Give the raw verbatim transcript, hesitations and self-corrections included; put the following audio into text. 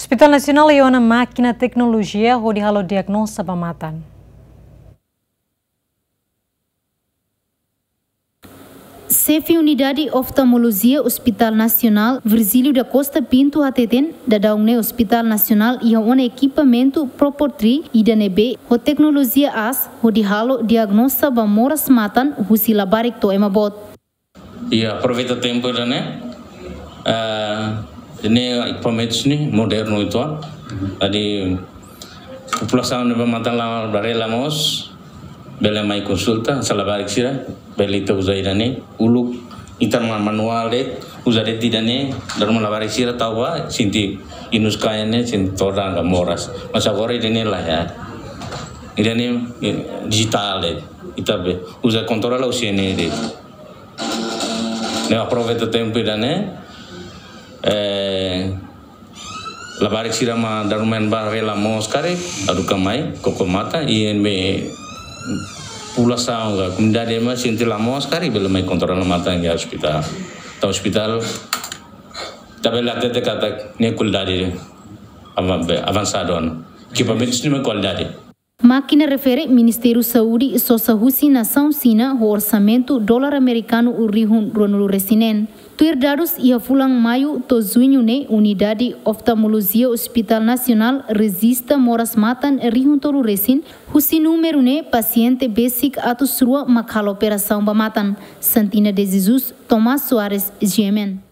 Hospital Nasionál iha ona mákina teknolojia hodi halo diagnoza ba matan. Xefe Unidade Oftalmolojia Hospital Nasionál, Virgílio da Costa Pinto, hateten, daudaun ne'e Hospital Nasionál iha ona ekipamentu proportri ida ne'ebé ho teknolojia aas hodi halo diagnoza ba moras matan husi labarik to'o ema boot. Iha aproveita tempu ida-ne'e, ah, ne'e ekipamentus ne'e modernu uitoan. Jadi populasaun ne'ebé matan la, bele la moos, bele mai konsulta, se labarik sira, bele ita uza ida-ne'e, uluk ita ma-, manuál de'it, uza de'it ida-ne'e, dala ruma labarik sira tau ba, sente inus kain ne'e, sente todan ka moras. Mas agora ida-ne'e laiha. Ida-ne'e, eh, dijitál de'it. Ita bele uza kontrola husi ne'e de'it. Ne'e aproveita tempu ida-ne'e, eh, labarik sira mak dala ruma ema bele la moos karik, haruka mai, koko matan, i ema populasaun ka komunidade mak sente la moos karik, bele mai kontrola matan iha ospitál. Entaun ospitál, ita bele hatete katak ne'e kualidade avan-, avansadu ona. Ekipamentus ne'e mak kualidade. Mákina refere Ministériu Saúde sosa husi nasaun Xina ho orsamentu dolar amerikanu rihun ruanulu-resin-neen. Tuir dadus iha fulan Maiu to'o Juñu ne'e, Unidade Oftalmolojia Hospital Nasionál rejista moras matan rihun tolu-resin, husi númeru ne'e pasiente besik atus rua mak halo operasaun ba matan. Santina de Jesus, Tomás Soares, G M N.